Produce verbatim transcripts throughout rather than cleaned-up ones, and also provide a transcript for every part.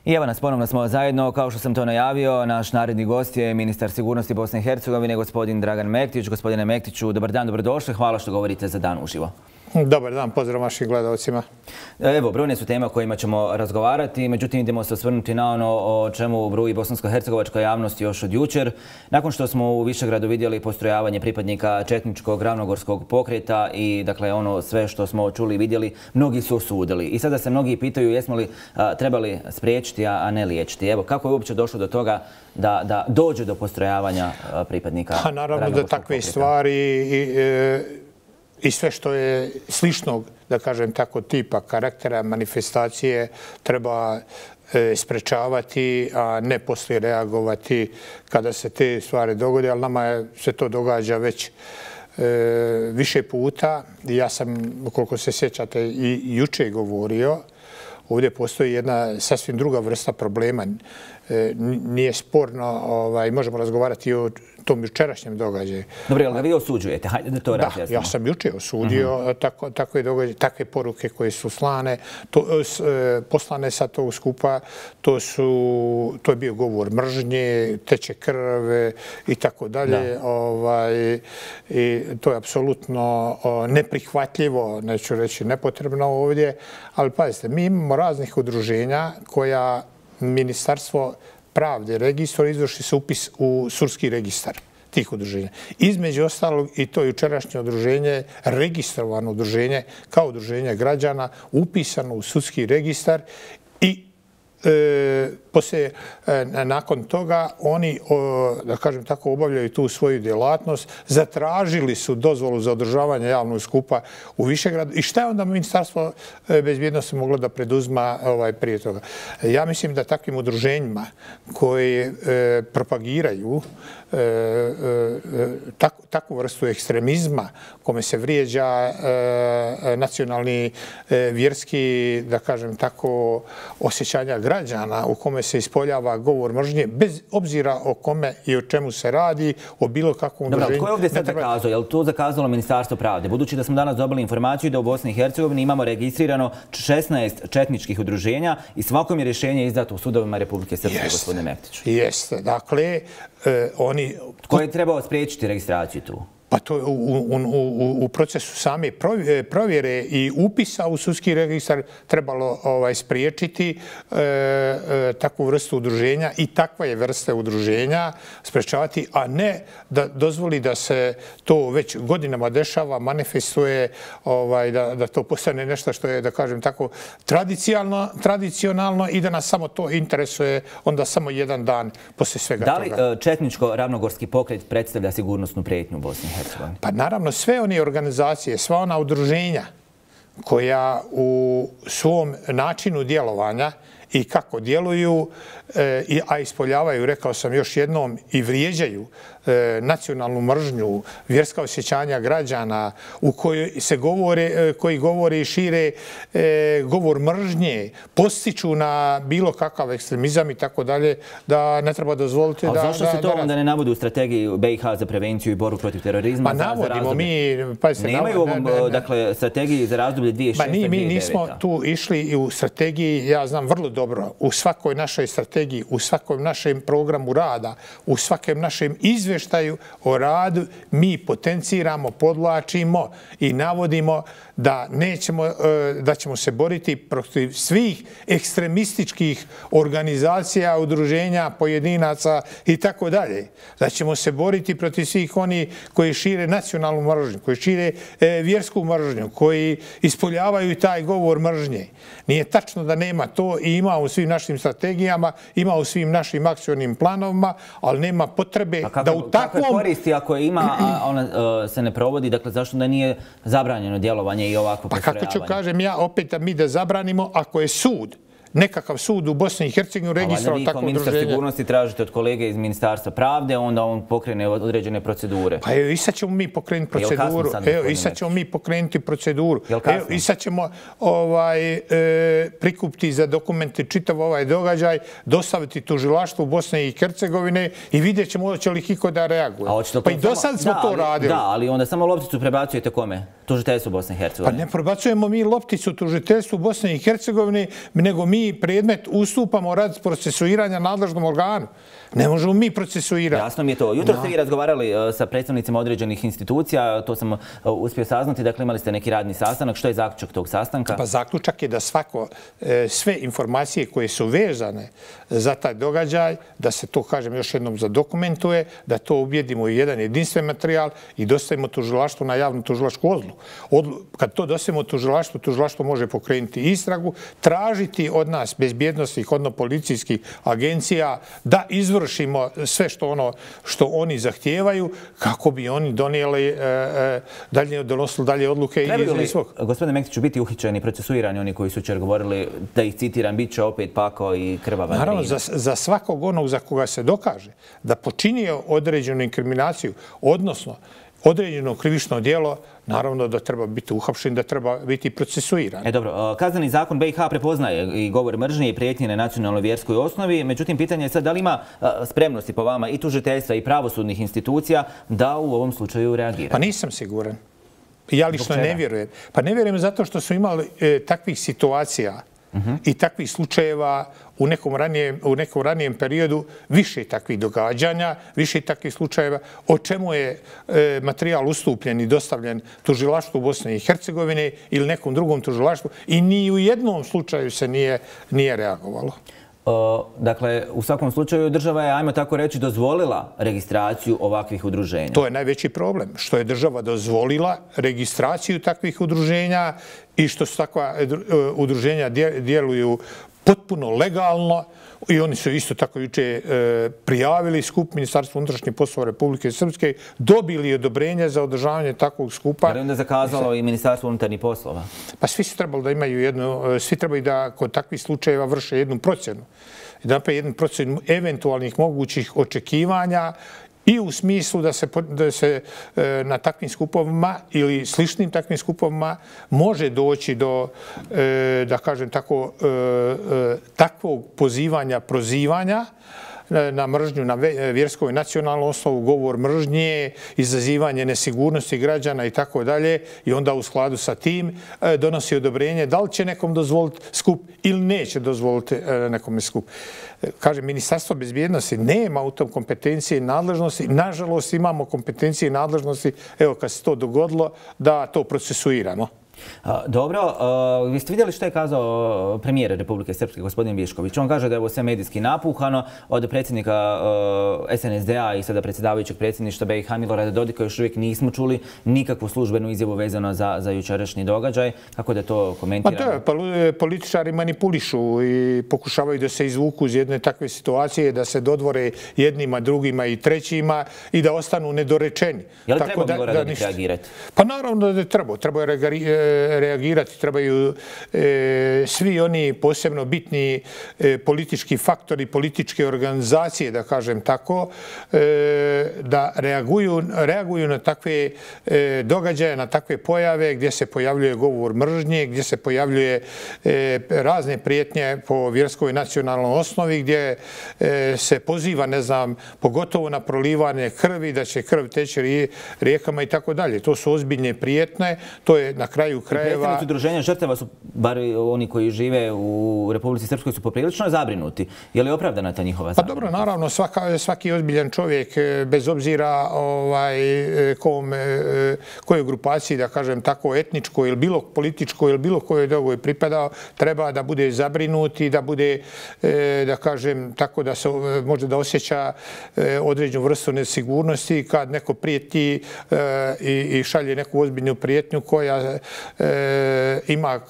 I evo nas, ponovno smo zajedno. Kao što sam to najavio, naš naredni gost je ministar sigurnosti Bosne i Hercegovine, gospodin Dragan Mektić. Gospodine Mektiću, dobar dan, dobrodošli. Hvala što govorite za Dan uživo. Dobar dan, pozdrav vašim gledalcima. Evo, brojne su teme o kojima ćemo razgovarati, međutim idemo se osvrnuti na ono o čemu bruji bosansko-hercegovačka javnost još od jučer. Nakon što smo u Višegradu vidjeli postrojavanje pripadnika četničkog ravnogorskog pokreta i dakle ono sve što smo čuli i vidjeli, mnogi su osudili. I sada se mnogi pitaju jesmo li a, trebali spriječiti, a, a ne liječiti. Evo, kako je uopće došlo do toga da, da dođe do postrojavanja a, pripadnika pa, naravno ravnogorskog da takve pokreta? stvari i, e, i sve što je sličnog, da kažem tako, tipa karaktera, manifestacije treba e, sprečavati, a ne poslije reagovati kada se te stvari dogode, ali nama je, se to događa već e, više puta. Ja sam, koliko se sjećate, i juče govorio, ovdje postoji jedna sasvim druga vrsta problema. E, nije sporno, ovaj, možemo razgovarati i o tom jučerašnjem događaju. Dobro, ali ga vi osuđujete? Hajde da to razjasnimo. Da, ja sam juče osudio uh-huh. tako, takve događaje, takve poruke koje su slane, to, s, e, poslane sa tog skupa, to, su, to je bio govor mržnje, teče krve i tako dalje. Ovaj, i to je apsolutno o, neprihvatljivo, neću reći nepotrebno ovdje, ali pazite, mi imamo raznih udruženja koja Ministarstvo pravde registra izvrši se upis u sudski registar tih udruženja. Između ostalog i to jučerašnje udruženje, registrovano udruženje kao udruženje građana, upisano u sudski registar i E, poslije, e, nakon toga oni, o, da kažem tako, obavljaju tu svoju djelatnost, zatražili su dozvolu za održavanje javnog skupa u Višegradu. I šta je onda Ministarstvo bezbjednosti moglo da preduzma ovaj, prije toga? Ja mislim da takvim udruženjima koji e, propagiraju e, e, tak, takvu vrstu ekstremizma kome se vrijeđa e, nacionalni, e, vjerski, da kažem tako, osjećanja građana u kome se ispoljava govor mržnje, bez obzira o kome i o čemu se radi, o bilo kakvom udruženju. Dobro, tko je ovdje sad zakazao? Je li to zakazalo Ministarstvo pravde? Budući da smo danas dobili informaciju da u Bosni i Hercegovini imamo registrirano šesnaest četničkih udruženja i svakom je rješenje izdato u sudovima Republike Srpske, gospodine Mektiću. Jeste. Dakle, eh, oni... Tko je trebao spriječiti registraciju tu? Pa to u, u, u, u procesu same provjere i upisa u sudski registar trebalo ovaj, spriječiti e, e, takvu vrstu udruženja i takve vrste udruženja sprečavati, a ne da dozvoli da se to već godinama dešava, manifestuje, ovaj, da, da to postane nešto što je, da kažem tako, tradicionalno, tradicionalno i da nas samo to interesuje onda samo jedan dan poslije svega toga. Da li toga. četničko-ravnogorski pokret predstavlja sigurnosnu prijetnju u Bosni i Hercegovini? Pa naravno sve one organizacije, sva ona udruženja koja u svom načinu djelovanja i kako djeluju, e, a ispoljavaju, rekao sam još jednom, i vrijeđaju e, nacionalnu mržnju, vjerska osjećanja građana u kojoj se govore, e, koji govore i šire e, govor mržnje, postiču na bilo kakav ekstremizam i tako dalje, da ne treba dozvoliti da... A zašto se to onda ne navodi u strategiji B i H za prevenciju i borbu protiv terorizma? Pa navodimo mi... Nemaju u ovom, dakle, strategiji za razdoblje dvije tisuće šeste do dvije tisuće devete. Mi nismo tu išli i u strategiji, ja znam vrlo dobro, u svakoj našoj strategiji, u svakom našem programu rada, u svakom našem izvještaju o radu, mi potenciramo, podlačimo i navodimo da nećemo, da ćemo se boriti protiv svih ekstremističkih organizacija, udruženja, pojedinaca i tako dalje. Da ćemo se boriti protiv svih oni koji šire nacionalnu mržnju, koji šire vjersku mržnju, koji ispoljavaju taj govor mržnje. Nije tačno da nema to i ima u svim našim strategijama, ima u svim našim akcionim planovima, ali nema potrebe kako, da u takvom... Kakve koristi ako ima, a ona uh, se ne provodi, dakle zašto da nije zabranjeno djelovanje i ovako postrojavanje? Pa kako ću kažem ja opet da mi da zabranimo ako je sud, nekakav sud u Bosni i Hercegovini registrao takvo udruženje. Vi kao ministar sigurnosti tražite od kolege iz Ministarstva pravde, onda on pokrene određene procedure. Pa evo i sad ćemo mi pokrenuti proceduru. Evo i sad ćemo mi pokrenuti proceduru. Evo i sad ćemo ovaj, e, prikupiti za dokumente čitav ovaj događaj, dostaviti tužilaštvu Bosne i Hercegovine i vidjet ćemo hoće li iko da reaguje. Pa i do sad smo to radili. Da, ali onda samo lopticu prebacujete kome? tužiteljstvu Bosne i Hercegovine? Pa ne prebacujemo mi lopticu tužiteljstvu Bosne i Hercegovine, nego mi predmet ustupamo radi procesuiranja nadležnom organu. Ne možemo mi procesuirati. Jasno mi je to. Jutro ste vi razgovarali sa predstavnicima određenih institucija, to sam uspio saznati, dakle imali ste neki radni sastanak. Što je zaključak tog sastanka? Pa zaključak je da svako, sve informacije koje su vezane za taj događaj, da se to, kažem, još jednom zadokumentuje, da to ubjedimo u jedan jedinstven materijal i dostavimo tužilaštvu na javnu tužilačku odluku. Kad to dostavimo tužilaštvu, tužilaštvo može pokrenuti istragu, tražiti od nas bezbjednostnih, odnosno policijskih agencija da izvršimo sve što ono što oni zahtijevaju kako bi oni donijeli dalje, donosili dalje odluke. Trebaju li, gospodine Mektiću, biti uhićeni, procesuirani oni koji su jučer govorili, da ih citiram, bit će opet pakao i krvava? Naravno, za, za svakog onog za koga se dokaže da počinio određenu inkriminaciju, odnosno određeno krivično djelo, naravno da treba biti uhapšen, da treba biti procesuiran. E dobro, kazneni zakon B i H prepoznaje i govor mržnje i prijetnje na nacionalnoj vjerskoj osnovi, međutim pitanje je sad da li ima spremnosti po vama i tužiteljstva i pravosudnih institucija da u ovom slučaju reagira? Pa nisam siguran. Ja lično ne vjerujem. Pa ne vjerujem zato što su imali e, takvih situacija uh-huh. i takvih slučajeva u nekom ranijem, u nekom ranijem periodu više takvih događanja, više takvih slučajeva, o čemu je e, materijal ustupljen i dostavljen tužilaštvu Bosne i Hercegovine ili nekom drugom tužilaštvu i ni u jednom slučaju se nije, nije reagovalo. O, dakle, u svakom slučaju država je, ajmo tako reći, dozvolila registraciju ovakvih udruženja. To je najveći problem, što je država dozvolila registraciju takvih udruženja i što su takva udruženja djeluju potpuno legalno i oni su isto tako juče e, prijavili skup Ministarstva unutrašnjih poslova Republike Srpske, dobili odobrenje za održavanje takvog skupa. Je li onda zakazalo i Ministarstvo unutarnjih poslova? Pa svi su trebali da imaju jednu, svi trebaju da kod takvih slučajeva vrše jednu procjenu. Da napravi jednu procjenu eventualnih mogućih očekivanja i u smislu da se, da se e, na takvim skupovima ili sličnim takvim skupovima može doći do, e, da kažem tako, e, e, takvog pozivanja, prozivanja na mržnju na vjerskoj i nacionalnoj osnovu, govor mržnje, izazivanje nesigurnosti građana i tako dalje, i onda u skladu sa tim donosi odobrenje da li će nekom dozvoliti skup ili neće dozvoliti nekom skup. Kaže, Ministarstvo bezbjednosti nema u tom kompetencije i nadležnosti. Nažalost, imamo kompetencije i nadležnosti, evo kad se to dogodilo, da to procesuiramo. Dobro, vi ste vidjeli što je kazao premijer Republike Srpske, gospodin Višković. On kaže da je ovo sve medijski napuhano. Od predsjednika S N S D-a i sada predsjedavajućeg predsjedništva B i H Milorada Dodika još uvijek nismo čuli nikakvu službenu izjavu vezano za, za jučerašnji događaj. Kako da to komentiramo? Pa to, političari manipulišu i pokušavaju da se izvuku iz jedne takve situacije, da se dodvore jednima, drugima i trećima i da ostanu nedorečeni. Je li treba Milorad Dodik reagirati? Pa naravno da je treba. Treba je reagirati, trebaju e, svi oni posebno bitni e, politički faktori, političke organizacije, da kažem tako, e, da reaguju, reaguju na takve e, događaje, na takve pojave gdje se pojavljuje govor mržnje, gdje se pojavljuje e, razne prijetnje po vjerskoj i nacionalnoj osnovi, gdje e, se poziva, ne znam, pogotovo na prolivanje krvi, da će krv teći rijekama i tako dalje. To su ozbiljne prijetnje, to je na kraju krajeva. Predstavnici udruženja žrtava su, bar oni koji žive u Republici Srpskoj, su poprilično zabrinuti. Je li opravdana ta njihova zabrinutost? Pa dobro, naravno, svaka, svaki ozbiljan čovjek, bez obzira ovaj, kom, kojoj grupaciji, da kažem tako, etničkoj ili bilo političkoj ili bilo kojoj drugoj pripadao, treba da bude zabrinut i da bude, da kažem tako, da se može da osjeća određenu vrstu nesigurnosti kad neko prijeti i, i šalje neku ozbiljnu prijetnju koja E, ima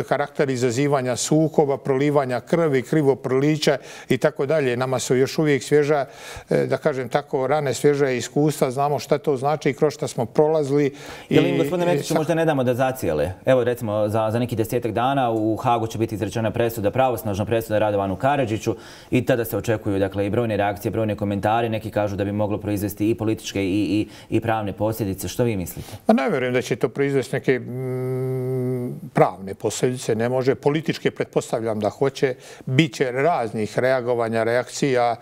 karakter izazivanja sukoba, prolivanja krvi, krivo prolića i tako dalje. Nama su još uvijek svježa, e, da kažem tako, rane svježa iskustva, znamo šta to znači i kroz šta smo prolazili. Je li im, gospodine Mektiću, možda ne damo da zacijele? Evo, recimo, za, za neki desetak dana u Hagu će biti izrečena presuda, pravosnažna presuda Radovanu Karadžiću i tada se očekuju, dakle, i brojne reakcije, brojne komentari. Neki kažu da bi moglo proizvesti i političke i, i, i pravne posljedice. Što vi mislite? Pa ne vjerujem da će to proizvesti neke kažem, pravne posljedice, ne može. Političke pretpostavljam da hoće. Biće raznih reagovanja, reakcija.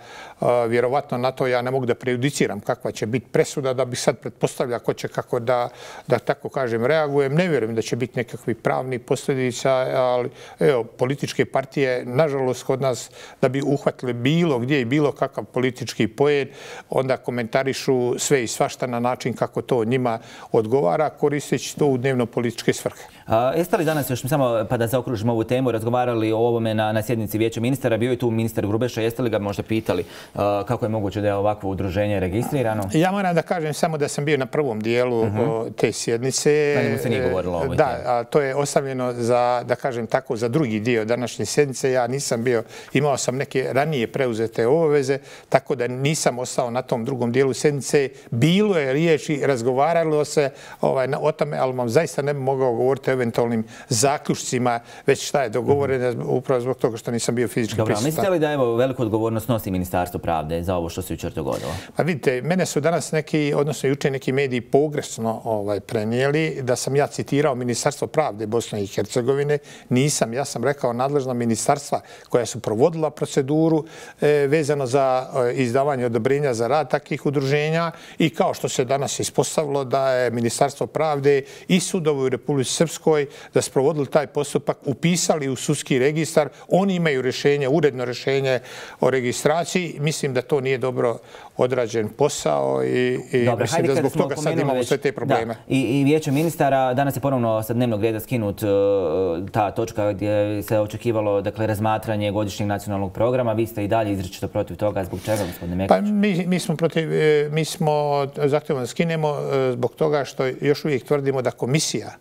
Vjerovatno na to ja ne mogu da prejudiciram kakva će biti presuda, da bih sad pretpostavlja ko će kako da, da tako kažem, reagujem. Ne vjerujem da će biti nekakvih pravnih posljedica, ali evo, političke partije, nažalost, kod nas, da bi uhvatili bilo gdje i bilo kakav politički poen, onda komentarišu sve i svašta na način kako to njima odgovara, koristeći to u dnevno-političke svrhe. A, jeste li danas, još samo pa da zaokružimo ovu temu, razgovarali o ovome na, na sjednici Vijeća ministara? Bio je tu ministar Grubeša, jeste li ga možda pitali a, kako je moguće da je ovakvo udruženje registrirano? Ja moram da kažem samo da sam bio na prvom dijelu uh-huh. te sjednice. Na njemu se nije govorilo o ovoj Da, a to je ostavljeno za, da kažem tako, za drugi dio današnje sjednice. Ja nisam bio, imao sam neke ranije preuzete obaveze, tako da nisam ostao na tom drugom dijelu sjednice. Bilo je riječi, razgovaralo se ovaj, o tome, ali vam zaista ne bi mogao govoriti o eventualnim zaključcima, već šta je dogovoreno, mm-hmm. upravo zbog toga što nisam bio fizički Dobro, prisutan. mislite li da evo veliku odgovornost nosi Ministarstvo pravde za ovo što se jučer dogodilo? Pa vidite, mene su danas neki, odnosno jučer neki mediji pogrešno ovaj, prenijeli da sam ja citirao Ministarstvo pravde Bosne i Hercegovine. Nisam, ja sam rekao nadležna ministarstva koja su provodila proceduru e, vezano za e, izdavanje odobrenja za rad takvih udruženja i kao što se danas ispostavilo da je Ministarstvo pravde i sudovi u Republici Srpskoj da su provodili taj postupak, upisali u sudski registar. Oni imaju rješenje, uredno rješenje o registraciji. Mislim da to nije dobro odrađen posao i, i Dobre, mislim da zbog toga sad imamo već sve te probleme. Da, i, I Vijeće ministara, danas je ponovno sa dnevnog reda skinut uh, ta točka gdje se očekivalo dakle, razmatranje godišnjeg nacionalnog programa. Vi ste i dalje izričito protiv toga. Zbog čega, gospodine Mekić? Pa mi, mi smo protiv, mi smo zahtjevno da skinemo zbog toga što još uvijek tvrdimo da komisija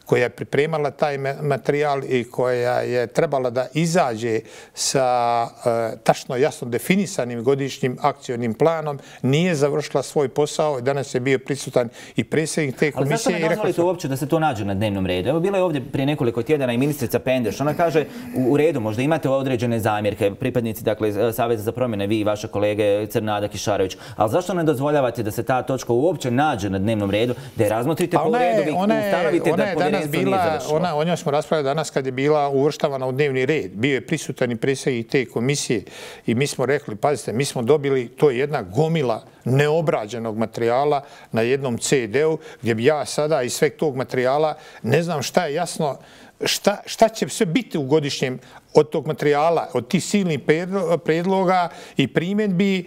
koja je pripremala taj materijal i koja je trebala da izađe sa e, tačno jasno definisanim godišnjim akcionim planom, nije završila svoj posao. Danas je bio prisutan i predsjednik te komisije. Ali zašto ne dozvolite uopće da se to nađe na dnevnom redu? Evo, bila je ovdje prije nekoliko tjedana i ministrica Pendeš. Ona kaže u, u redu, možda imate određene zamjerke, pripadnici dakle, Saveza za promjene, vi i vaše kolege Crnada, Kišarović, ali zašto ne dozvoljavate da se ta točka uopće nađe na dnevnom redu, da je razmotrite po redu, vi ustanovite da povjerenstvo nije završilo? Ona, o njoj smo raspravljali danas kad je bila uvrštavana u dnevni red. Bio je prisutan i predsjednik te komisije i mi smo rekli, pazite, mi smo dobili, to je jedna gomila neobrađenog materijala na jednom ce de-u gdje bi ja sada iz sveg tog materijala ne znam šta je jasno, šta, šta će sve biti u godišnjem od tog materijala, od tih silnih predloga i primjedbi,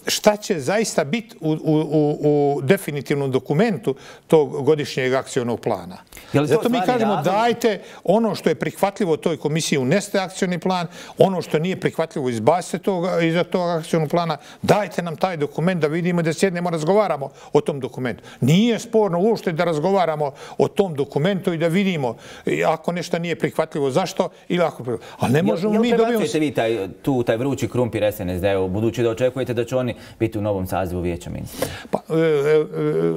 šta će zaista biti u, u, u definitivnom dokumentu tog godišnjeg akcionog plana. Zato mi kažemo razlog? Dajte ono što je prihvatljivo toj komisiji uneste akcioni plan, ono što nije prihvatljivo izbacite toga, iza tog akcionog plana, dajte nam taj dokument da vidimo da sjednemo, razgovaramo o tom dokumentu. Nije sporno uopšte da razgovaramo o tom dokumentu i da vidimo ako nešto nije prihvatljivo zašto ili ako ali ne možemo jel, mi jel dobijemo... vi taj, tu taj vrući krumpir es en es de-u, budući da očekujete da će oni biti u novom sazivu Vijeća ministara? Pa, e, e,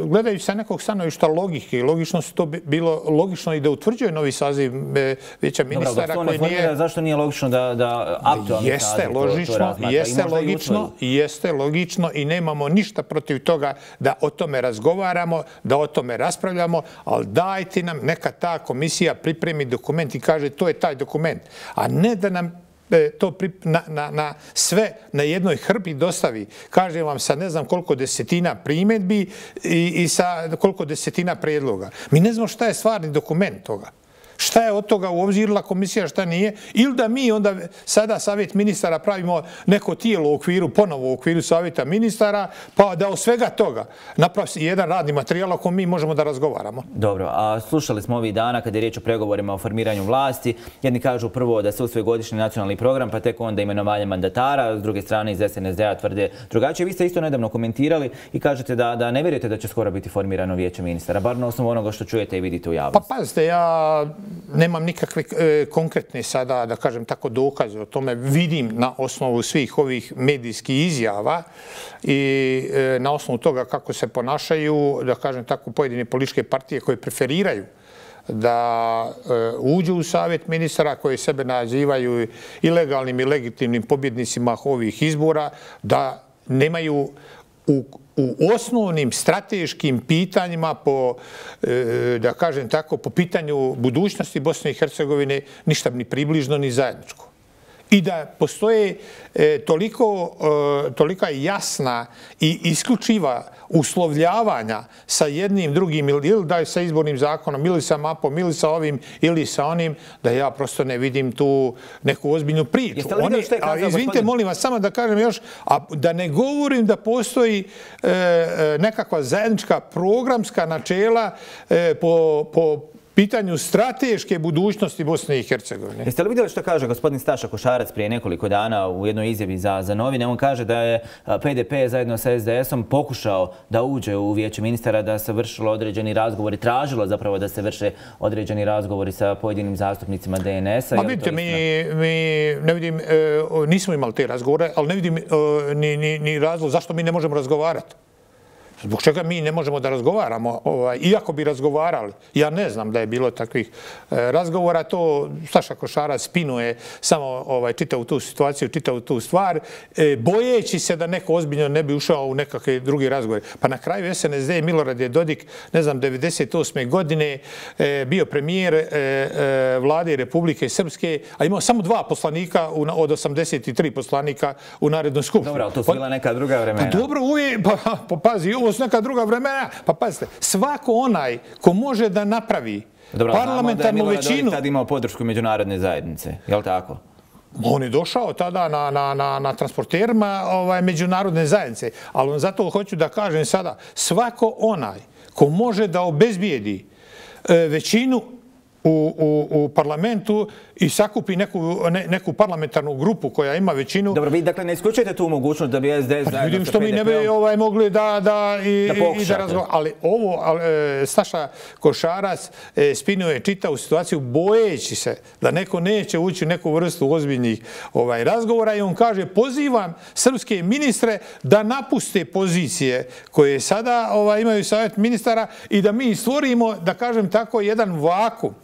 gledajući sa nekog stanovišta logike, logično se to bilo logično i da utvrđuje novi saziv e, Vijeća ministara. Dobro, koji nije... zašto nije logično da, da aktualni jeste saziv logično, to, to razmatra? jeste logično, i jeste logično i nemamo ništa protiv toga da o tome razgovaramo, da o tome raspravljamo, ali dajte nam neka ta komisija pripremi dokument i kaže to je taj dokument. A ne da nam to na, na, na sve na jednoj hrpi dostavi. Kažem vam sa ne znam koliko desetina primjedbi i, i sa koliko desetina prijedloga. Mi ne znamo šta je stvarni dokument toga. Šta je od toga uobzirila komisija, šta nije, ili da mi onda sada savjet ministara pravimo neko tijelo u okviru, ponovo u okviru savjeta ministara, pa da od svega toga napravi jedan radni materijal o kojem mi možemo da razgovaramo. Dobro, a slušali smo ovih dana kada je riječ o pregovorima o formiranju vlasti. Jedni kažu prvo da se usvoji godišnji nacionalni program, pa tek onda imenovanje mandatara, s druge strane iz es en es de-a tvrde drugačije. Vi ste isto nedavno komentirali i kažete da, da ne vjerujete da će skoro biti formirano Vijeće ministara, bar na osnovu onoga što čujete i vidite u javnosti. Pa pazite, ja nemam nikakve e, konkretne sada, da kažem tako, dokaze o tome. Vidim na osnovu svih ovih medijskih izjava i e, na osnovu toga kako se ponašaju, da kažem tako, pojedine političke partije koje preferiraju da e, uđu u savjet ministara, koji sebe nazivaju ilegalnim i legitimnim pobjednicima ovih izbora, da nemaju u u osnovnim strateškim pitanjima po, da kažem tako, po pitanju budućnosti Bosne i Hercegovine ništa ni približno ni zajedničko. I da postoje e, toliko, e, tolika jasna i isključiva uslovljavanja sa jednim drugim ili da je sa izbornim zakonom ili sa mapom ili sa ovim ili sa onim, da ja prosto ne vidim tu neku ozbiljnu priču. Oni, a, izvinite, molim vas, samo da kažem još, a da ne govorim da postoji e, nekakva zajednička programska načela e, po, po pitanju strateške budućnosti Bosne i Hercegovine. Jeste li vidjeli što kaže gospodin Staša Košarac prije nekoliko dana u jednoj izjavi za, za novine? On kaže da je P D P zajedno sa S D S-om pokušao da uđe u vijeće ministara, da se vršilo određeni razgovori, tražilo zapravo da se vrše određeni razgovori sa pojedinim zastupnicima D N S-a. Ma vidite, mi, mi ne vidim, e, nismo imali te razgovore, ali ne vidim e, ni, ni, ni razlog zašto mi ne možemo razgovarati. Zbog čega mi ne možemo da razgovaramo, ovaj, iako bi razgovarali. Ja ne znam da je bilo takvih e, razgovora, to Staša Košarac spinuje samo ovaj, čitavu tu situaciju, čitavu tu stvar, e, bojeći se da neko ozbiljno ne bi ušao u nekakve drugi razgovore. Pa na kraju S N S D Milorad je Dodik, ne znam, devedeset osme godine e, bio premijer e, e, vlade Republike Srpske, a imao samo dva poslanika u, od osamdeset tri poslanika u Narodnoj skupštini. Dobro, to su bila neka druga vremena. Pa dobro, uvijek, pa, pa pazi, ovo su neka druga vremena. Pa pazite, svako onaj ko može da napravi Dobro, parlamentarnu većinu... Dobro, znamo da je Milorad Dodik tad imao podršku međunarodne zajednice, je li tako? On je došao tada na, na, na, na transporterima ovaj, međunarodne zajednice, ali zato hoću da kažem sada, svako onaj ko može da obezbijedi e, većinu u, u, u parlamentu i sakupi neku, ne, neku parlamentarnu grupu koja ima većinu... Dobro, vi dakle ne isključujete tu mogućnost da bi S D S... Pa vidim što mi ne bi ovaj, mogli da, da, i, da, i da razgovaramo. Ali ovo, ali, e, Staša Košarac e, spinuje čitavu situaciju bojeći se da neko neće ući u neku vrstu ozbiljnih ovaj, razgovora i on kaže pozivam srpske ministre da napuste pozicije koje sada ovaj, imaju savjet ministara i da mi stvorimo, da kažem tako, jedan vakum.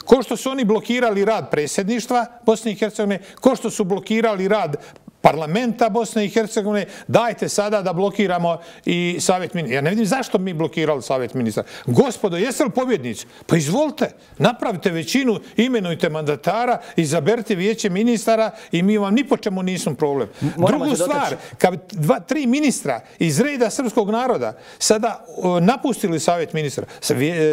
Ko što su oni blokirali rad predsjedništva Bosne i Hercegovine, ko što su blokirali rad parlamenta Bosne i Hercegovine, dajte sada da blokiramo i savjet ministra. Ja ne vidim zašto mi blokirali savjet ministra. Gospodo, jeste li pobjednici? Pa izvolite, napravite većinu, imenujte mandatara, izaberite vijeće ministara i mi vam ni po čemu nismo problem. Moramo Drugu stvar, kad dva, tri ministra iz reda srpskog naroda sada uh, napustili savjet ministra,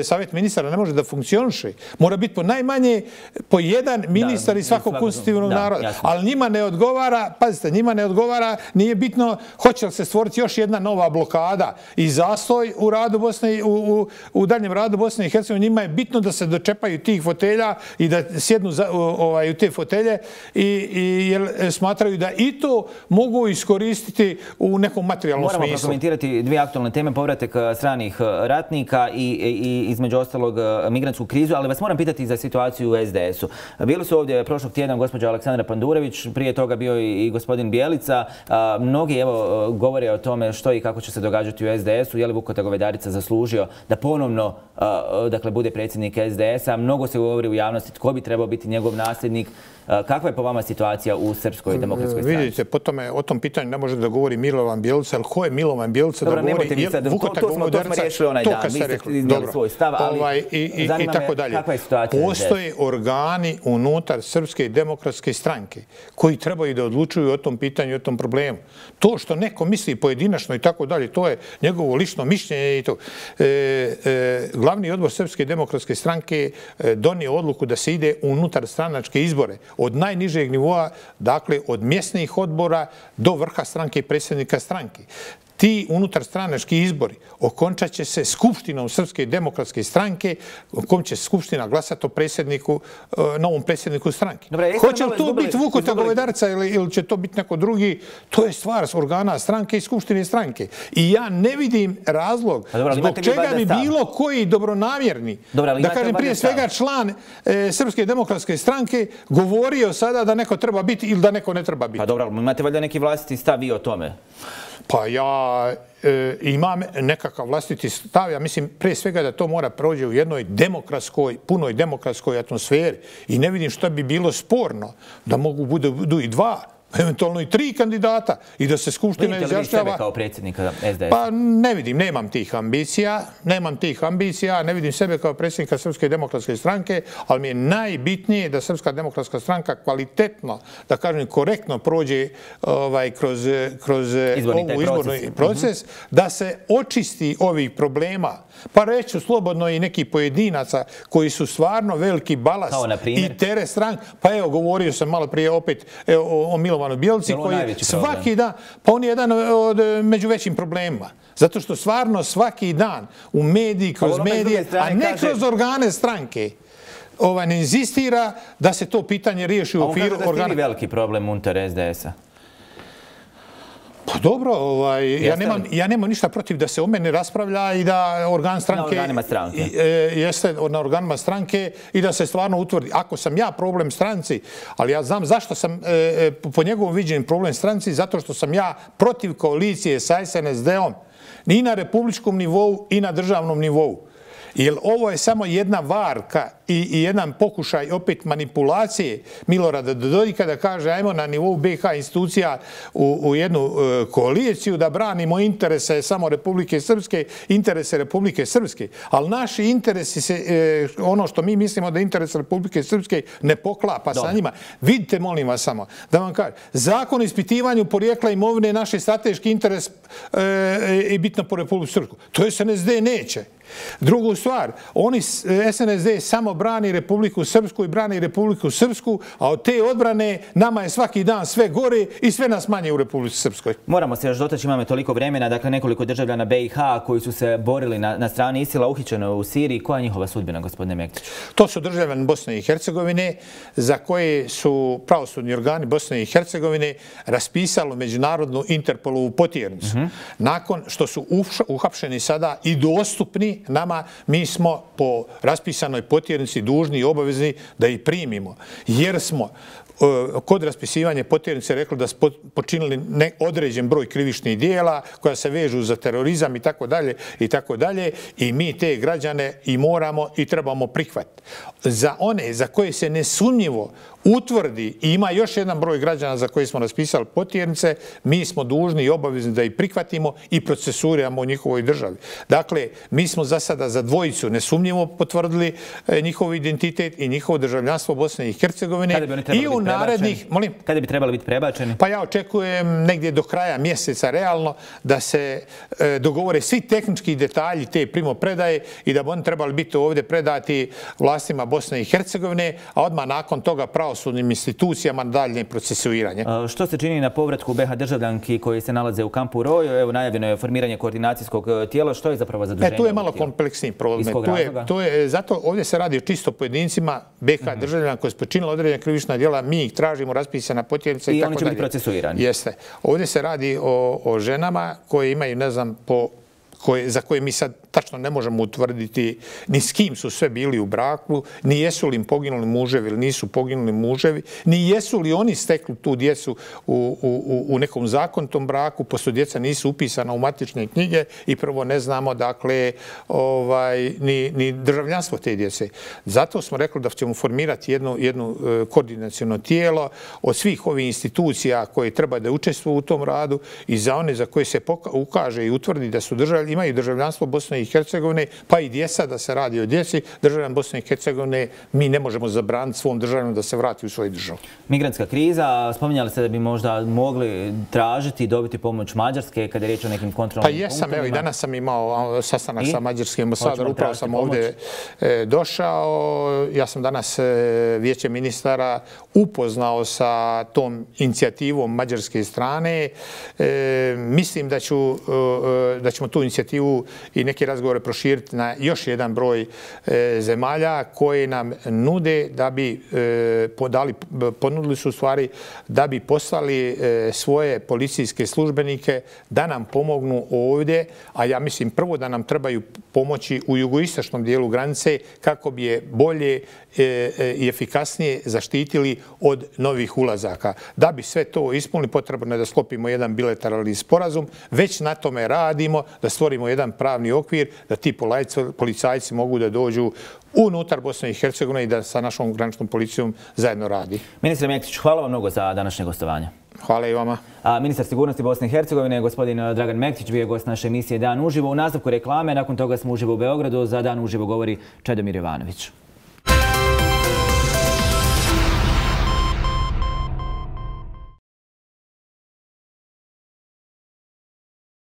savjet ministara ne može da funkcioniše. Mora biti po najmanje po jedan ministar da, iz svakog konstitutivnog da, naroda. Jasno. Ali njima ne odgovara, pazite, njima ne odgovara, nije bitno hoće li se stvoriti još jedna nova blokada i zastoj u radu Bosne, u, u, u daljem radu Bosne i Hercegovine. Njima je bitno da se dočepaju tih fotelja i da sjednu za, ovaj, u te fotelje i, i jer smatraju da i to mogu iskoristiti u nekom materijalnom Moramo smislu. Moramo prokomentirati dvije aktualne teme, povratak stranih ratnika i, i između ostalog migrantsku krizu, ali vas moram pitati za situaciju u S D S-u. Bili su ovdje prošlog tjedna gospođa Aleksandra Pandurević, prije toga bio i gospodin Bjelica. A, mnogi evo govore o tome što i kako će se događati u S D S-u. Je li Vukotar Govedarica zaslužio da ponovno a, dakle, bude predsjednik S D S-a? Mnogo se govori u javnosti tko bi trebao biti njegov nasljednik. A, kakva je po vama situacija u Srpskoj demokratskoj stranci? Vidite, po tome, o tom pitanju ne može da govori Milovan Bjelica, ali ko je Milovan Bjelica Dobro, da govori? Nemojte vi sad, to, to, smo, to smo riješili onaj dan. Vi ste iznijeli svoj stav, ali ovaj, i, i, i tako dalje. Kakva je situacija? Postoje organi unutar Srpske demokratske stranke koji trebaju da odlučuju o tom pitanju i o tom problemu. To što neko misli pojedinačno i tako dalje, to je njegovo lično mišljenje i to. E, e, glavni odbor Srpske demokratske stranke donio odluku da se ide unutar stranačke izbore od najnižeg nivoa, dakle od mjesnih odbora do vrha stranke i predsjednika stranke. Ti unutarstranački izbori okončat će se Skupštinom Srpske demokratske stranke, u kom će Skupština glasati o predsjedniku, novom predsjedniku stranke. Dobre, hoće li to izgubili, biti Vukotar Govedarica ili, ili će to biti neko drugi, to je stvar organa stranke i Skupštine stranke. I ja ne vidim razlog Dobre, zbog čega bi bilo koji dobronamjerni, Dobre, da kažem prije svega član e, Srpske demokratske stranke, govorio sada da neko treba biti ili da neko ne treba biti. Pa dobro, imate valjda neki vlastiti stav i o tome? Pa ja e, imam nekakav vlastiti stav. Ja mislim prije svega da to mora prođe u jednoj demokratskoj, punoj demokratskoj atmosferi. I ne vidim što bi bilo sporno da mogu budu, budu i dva eventualno i tri kandidata i da se Skupština izjašnjava. Vidite li vi sebe kao predsjednika S D S? Pa ne vidim, nemam tih ambicija, nemam tih ambicija, ne vidim sebe kao predsjednika Srpske demokratske stranke, ali mi je najbitnije da Srpska demokratska stranka kvalitetno, da kažem korektno prođe ovaj, kroz, kroz ovu izborni proces, da se očisti ovih problema. Pa reću slobodno i neki pojedinaca koji su stvarno veliki balast i teret stranke. Pa evo, govorio sam malo prije opet o, o Milovanu Bjelici koji svaki dan, pa on je jedan od među većim problemima. Zato što stvarno svaki dan u mediji, kroz medije, a ne kroz organe stranke, ovaj, ne inzistira da se to pitanje riješi u okviru organa. A on kaže da ste vi veliki problem unutar S D S-a? Pa dobro, ovaj, ja, nemam, ja nemam ništa protiv da se o mene raspravlja i da organ stranke... Na organima stranke. I, e, jeste na organima stranke i da se stvarno utvrdi. Ako sam ja problem stranci, ali ja znam zašto sam e, po njegovom viđenju problem stranci, zato što sam ja protiv koalicije sa S N S D-om i na republičkom nivou i na državnom nivou. Jer ovo je samo jedna varka i, i jedan pokušaj opet manipulacije Milorada Dodika da kaže ajmo na nivou B iH institucija u, u jednu e, koaliciju da branimo interese samo Republike Srpske, interese Republike Srpske. Ali naši interesi se, e, ono što mi mislimo da je interes Republike Srpske ne poklapa Dobre. sa njima. Vidite, molim vas samo, da vam kažem, zakon o ispitivanju porijekla imovine je naš strateški interes e, i bitno po Republiku Srpsku. To S N S D neće. Drugu stvar, oni S N S D samo brani Republiku Srpsku i brani Republiku Srpsku, a od te odbrane nama je svaki dan sve gore i sve nas manje u Republici Srpskoj. Moramo se još dotaći, imamo toliko vremena, dakle nekoliko državljana B iH koji su se borili na, na strani ISIL-a uhićeno u Siriji. Koja je njihova sudbina, gospodine Mektiću? To su državljani Bosne i Hercegovine za koje su pravosudni organi Bosne i Hercegovine raspisalo međunarodnu Interpolovu potjernicu. Mm-hmm. Nakon što su uhapšeni sada i dostupni nama, mi smo po raspisanoj potjernici dužni i obavezni da ih primimo. Jer smo kod raspisivanja potjernice rekli da su počinili određen broj krivičnih dijela koja se vežu za terorizam i tako dalje i tako dalje i mi te građane i moramo i trebamo prihvatiti. Za one za koje se nesumnjivo utvrdi i ima još jedan broj građana za koje smo raspisali potjernice, mi smo dužni i obavezni da ih prihvatimo i procesuiramo u njihovoj državi. Dakle, mi smo za sada za dvojicu nesumnjivo potvrdili njihov identitet i njihovo državljanstvo Bosne i Hercegovine i u narednih... Molim? Kada bi trebali biti prebačeni? Pa ja očekujem negdje do kraja mjeseca realno da se e, dogovore svi tehnički detalji te primopredaje i da bi oni trebali biti ovdje predati vlastima Bosne i Hercegovine, a odmah nakon toga pravosudnim institucijama daljnje procesuiranje. A što se čini na povratku B iH državljanki koji se nalaze u kampu Rojo? Evo, najavljeno je formiranje koordinacijskog tijela. Što je zapravo zaduženje? E, tu je malo kompleksniji problem. Tu je, tu je, zato ovdje se radi o čisto pojedincima B iH mm-hmm. državljana koji su počinili određena krivična djela, mi ih tražimo raspisana potjernica i, i tako dalje. I oni će biti procesuirani. Jeste. Ovdje se radi o, o ženama koje imaju, ne znam, po, koje, za koje mi sad tačno ne možemo utvrditi ni s kim su sve bili u braku, ni jesu li im poginuli muževi ili nisu poginuli muževi, ni jesu li oni stekli tu djecu u, u, u nekom zakonitom braku, pošto djeca nisu upisana u matične knjige i prvo ne znamo dakle ovaj, ni, ni državljanstvo te djece. Zato smo rekli da ćemo formirati jedno, jedno koordinaciono tijelo od svih ovih institucija koje treba da učestvuju u tom radu i za one za koje se ukaže i utvrdi da su držav, imaju državljanstvo Bosne i Hercegovine, pa i djeca, da se radi o djeci, državljan Bosne i Hercegovine, mi ne možemo zabraniti svom državljanom da se vrati u svoju državu. Migrantska kriza, spominjali ste da bi možda mogli tražiti i dobiti pomoć Mađarske kada je riječ o nekim kontrolnim punktima? Pa jesam, evo i danas sam imao sastanak I? sa mađarskim ambasadorom, upravo sam pomoć? ovdje e, došao. Ja sam danas e, vijeće ministara upoznao sa tom inicijativom mađarske strane. E, mislim da, ću, e, da ćemo tu inicijativu i neki razgovore proširiti na još jedan broj e, zemalja koje nam nude da bi e, podali, ponudili su stvari da bi poslali e, svoje policijske službenike da nam pomognu ovdje, a ja mislim prvo da nam trebaju pomoći u jugoistočnom dijelu granice kako bi je bolje i efikasnije zaštitili od novih ulazaka. Da bi sve to ispunili, potrebno je da sklopimo jedan bilateralni sporazum. Već na tome radimo, da stvorimo jedan pravni okvir, da ti policajci mogu da dođu unutar Bosne i Hercegovine i da sa našom graničnom policijom zajedno radi. Ministre Mektiću, hvala vam mnogo za današnje gostovanje. Hvala i vama. A ministar sigurnosti Bosne i Hercegovine, gospodin Dragan Mektić, bio je gost naše emisije Dan uživo. U nastavku reklame, nakon toga smo uživo u Beogradu. Za Dan uživo govori Čedomir Jovanović.